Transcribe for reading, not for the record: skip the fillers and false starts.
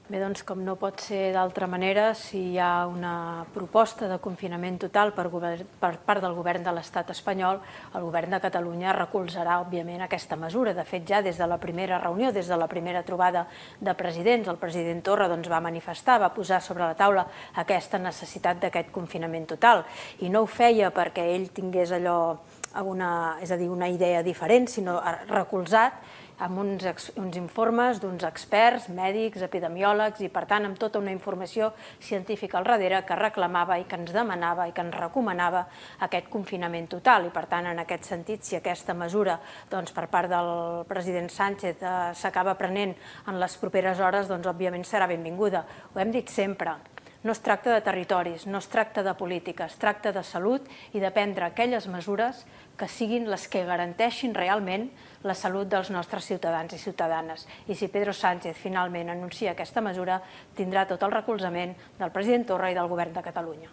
Bé, doncs, com no pot ser d'altra manera, si hi ha una proposta de confinament total per part del govern de l'estat espanyol, el govern de Catalunya recolzarà, òbviament, aquesta mesura. De fet, ja des de la primera reunió, des de la primera trobada de presidents, el president Torra va manifestar, va posar sobre la taula aquesta necessitat d'aquest confinament total. I no ho feia perquè ell tingués allò, una idea diferent, sinó recolzat amb uns informes d'uns experts, mèdics, epidemiòlegs i, per tant, amb tota una informació científica al darrere que reclamava i que ens demanava i que ens recomanava aquest confinament total. I, per tant, en aquest sentit, si aquesta mesura per part del president Sánchez s'acaba prenent en les properes hores, doncs, òbviament, serà benvinguda. Ho hem dit sempre. No es tracta de territoris, no es tracta de política, es tracta de salut i de prendre aquelles mesures que siguin les que garanteixin realment la salut dels nostres ciutadans i ciutadanes. I si Pedro Sánchez finalment anuncia aquesta mesura, tindrà tot el recolzament del president Torra i del govern de Catalunya.